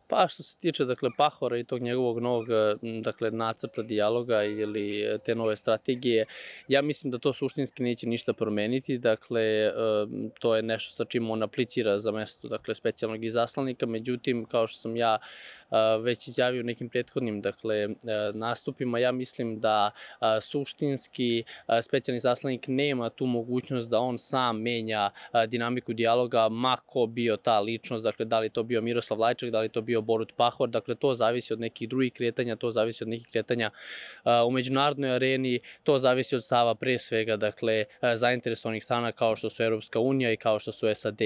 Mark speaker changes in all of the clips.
Speaker 1: Pa što se tiče dakle Pahora i tog njegovog novog dakle nacrta dijaloga ili te nove strategije, ja mislim da to suštinski neće ništa promeniti. Dakle, to je nešto sa čim on aplicira za mesto dakle specijalnog izaslanika. Međutim, kao što sam ja već izjavio u nekim prethodnim dakle nastupima, ja mislim da suštinski specijalni izaslanik nema tu mogućnost da on sam menja dinamiku dijaloga, ma ko bio ta ličnost, dakle da li to bio Miroslav Lajčak, da li to bio Borut Pahor, dakle to zavisi od nekih drugih kretanja, to zavisi od nekih kretanja u međunarodnoj areni, to zavisi od stava pre svega dakle zainteresovanih strana kao što su Evropska unija i kao što su SAD.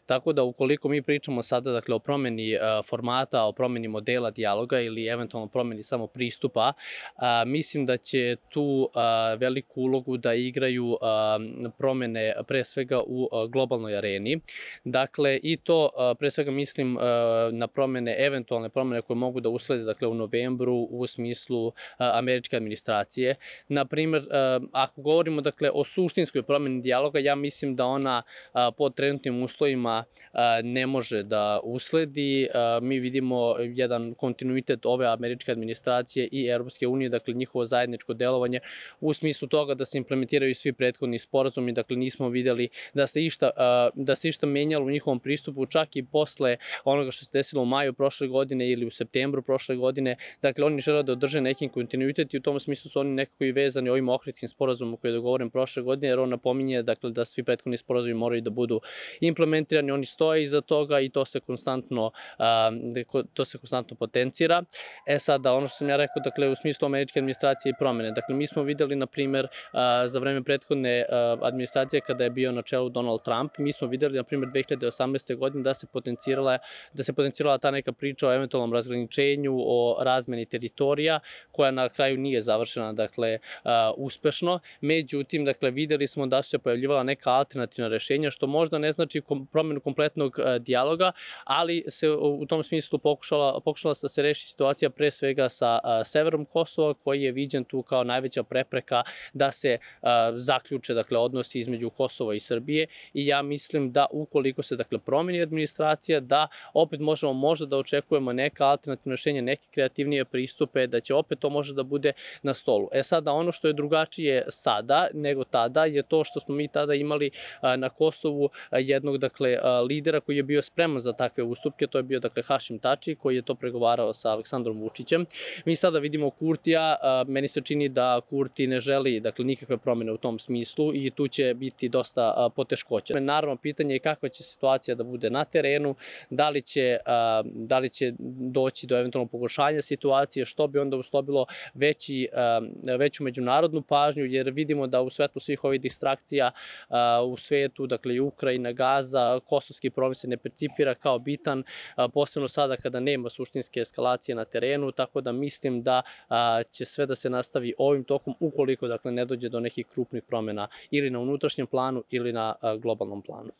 Speaker 1: Tako da ukoliko mi pričamo sada dakle o promeni formata, o promeni modela dijaloga ili eventualno promeni samo pristupa, mislim da će tu veliku ulogu da igraju promene pre svega u globalnoj areni. Dakle, i to pre svega mislim na promene, eventualne promene koje mogu da uslede dakle u novembru u smislu američke administracije. Naprimer, ako govorimo dakle o suštinskoj promeni dijaloga, ja mislim da ona pod trenutnim uslovima ne može da usledi. Mi vidimo jedan kontinuitet ove američke administracije i Evropske unije, dakle njihovo zajedničko delovanje u smislu toga da se implementiraju svi prethodni sporazumi, dakle nismo videli da se išta menjalo u njihovom pristupu, čak i posle onoga što se desilo u maju prošle godine ili u septembru prošle godine. Dakle, oni žele da održe neki kontinuitet i u tom smislu su oni nekako i vezani ovim Ohridskim sporazumom koji je dogovoren prošle godine, jer on napominje dakle, da svi prethodni sporazumi moraju da budu implementirani, oni stoje iza toga i to se konstantno potencira. Sada, ono što sam ja rekao, dakle, u smislu američke administracije i promene, dakle, mi smo videli, na primer, za vreme prethodne administracije kada je bio na čelu Donald Trump, mi smo videli, na primer, 2018. godine da se potencirala ta neka priča o eventualnom razgraničenju, o razmeni teritorija, koja na kraju nije završena, dakle, uspešno. Međutim, dakle, videli smo da su se pojavljivala neka alternativna rešenja, što možda ne znači promenu kompletnog dijaloga, ali se u tom smislu pokušala da se reši situacija pre svega sa severom Kosova, koji je viđen tu kao najveća prepreka da se zaključe dakle odnosi između Kosova i Srbije, i ja mislim da ukoliko se dakle promeni administracija, da opet možemo možda da očekujemo neka alternativna rešenja, neke kreativnije pristupe, da će opet to možda da bude na stolu. Sada, ono što je drugačije sada nego tada je to što smo mi tada imali na Kosovu jednog dakle lidera koji je bio spreman za takve ustupke, to je bio dakle Hašim Tači, koji je to pregovarao sa Aleksandrom Vučićem. Mi sada vidimo Kurtija, meni se čini da Kurti ne želi dakle nikakve promene u tom smislu i tu će biti dosta poteškoća. Naravno, pitanje je kakva će situacija da bude na terenu, da li će doći do eventualnog pogoršanja situacije, što bi onda uslovilo veću međunarodnu pažnju, jer vidimo da u svetlu svih ovih distrakcija u svetu, dakle i Ukrajina, Gaza, kosovski problem se ne percipira kao bitan, posebno sada kada nema suštinske eskalacije na terenu, tako da mislim da će sve da se nastavi ovim tokom ukoliko dakle ne dođe do nekih krupnih promena ili na unutrašnjem planu ili na globalnom planu.